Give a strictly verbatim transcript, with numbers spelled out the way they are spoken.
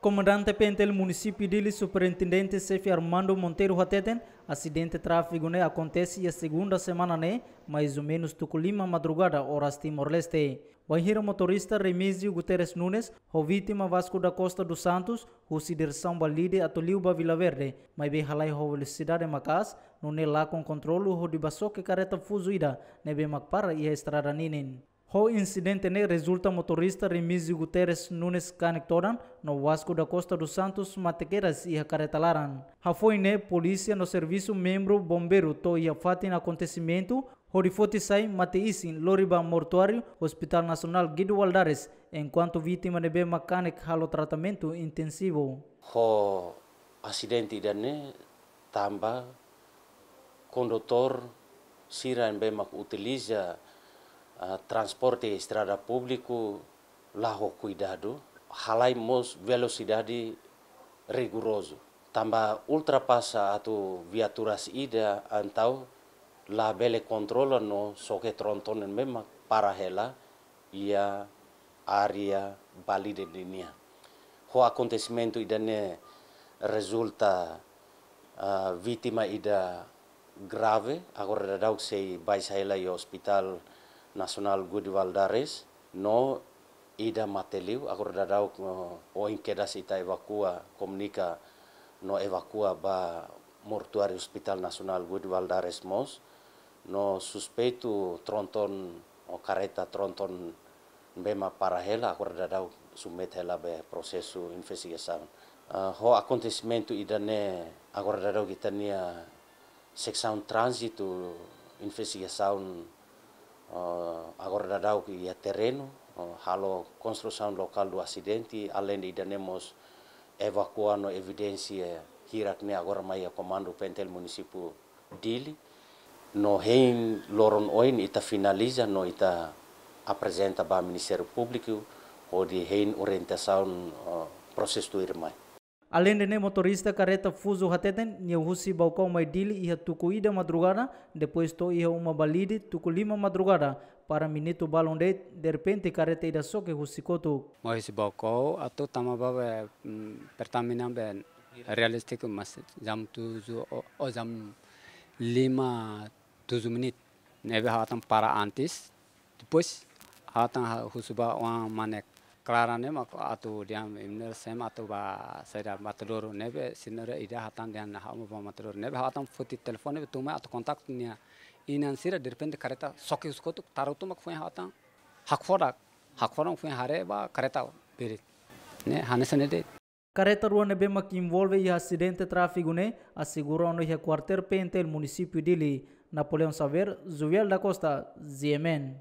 Komandante P N T L Munisípiu Dili, Superintendente Xefe Armando Monteiro hateten, asidente tráfegu ne'e akontese iha segunda semana ne'e, mais ou menus tuku lima madrugada, oras Timor-Leste. Bainhira motorista Remísio Guterres Nunes ho vítima Vasco da Costa dos Santos husi diresaun ba Lide atu liu ba Vila Verde, maibé halai ho velosidade maka'as, nune'e lakon kontrolu hodi bá xoke karreta fuzu ida ne'ebé mak para iha estrada ninin. Ho insidente ne'e rezulta motorista Remísio Guterres Nunes kanek todan, no Vasco da Costa dos Santos mate kedas iha karreta laran. Hafoin ne'e, polísia no servisu membru bombeiru to'o iha fatin akontesimentu, hodi foti sai mate-isin lori ba mortuáriu Hospital Nasionál Guido Valadares, enkuantu vítima ne'ebé mak kanek halo tratamentu intensivu. Ho asidente ida-ne'e tanba kondutór sira ne'ebé mak utiliza, ah, transporte estrada públiku la ho kuidadu, halai mós velosidade rigorozu. Tanba ultrapasa atu viaturas ida entaun labele kontrola no xoke tronton ne'ebé mak para hela iha área ba Lide ninian. Ho akontesimentu ida-ne'e rezulta, ah, vítima ida grave, agora daudaun sei bá sai hela iha Hospital Nasionál Guido Valadares, no ida mate liu, agora daudaun, eh, ohin kedas ita evakua, komunika no evakua ba mortuáriu Hospital Nasionál Guido Valadares mós, no suspeitu tronton ou karreta tronton ne'ebé mak para hela, agora daudaun submete hela ba prosesu investigasaun. Ah, ho akontesimentu ida-ne'e, agora daudaun ita-nia seksaun tránzitu investigasaun, eh, agora daudaun iha terrenu, eh, halo konstrusaun lokál do asidente, aleinde ida-ne'e mós evakua no evidénsia hirak ne'e agora mai iha komandu P N T L Munisípiu Dili. No hein loron oin ita finaliza no ita aprezenta ba Ministériu Públiku, hodi hein orientasaun, eh, prosesu tuirmai. Aleinde ne'e, motorista karreta fuzu hateten, nia husi Baucau mai Dili iha tuku ida madrugada, depois to'o iha uma ba Lide tuku lima madrugada, para minutu balun de'it, derrepente karreta ida xoke husi kotuk. Mai husi Baucau atu tama ba be, mm, Pertamina be realístiku, mas jam tujuh ou, ou jam lima tujuh menit. Ne'ebé ha'u atan para antes, depois ha'u atan ha-, husu ba oan mane Clara ne'e mak atu dehan imi-nia sem atu ba saida Matadouro, ne'ebé señora ida hatán dehan ha'u mak ba Matadouro. Ne'ebé ha'u atan foti telefone ne'ebé tun mai atu kontaktu nia inan sira, derrepente karreta xoke husi kotuk, tarutu mak foin ha'u atan hakfodak, hakfodak foin haree ba karreta beret. Ne'e hanesan ne'e de'it. Karreta rua ne'ebé mak envolve iha asidente tráfegu ne'e asegura ona iha kuartél P N T L Munisípiu Dili. Napoleão Xavier, Joel da Costa, G M N.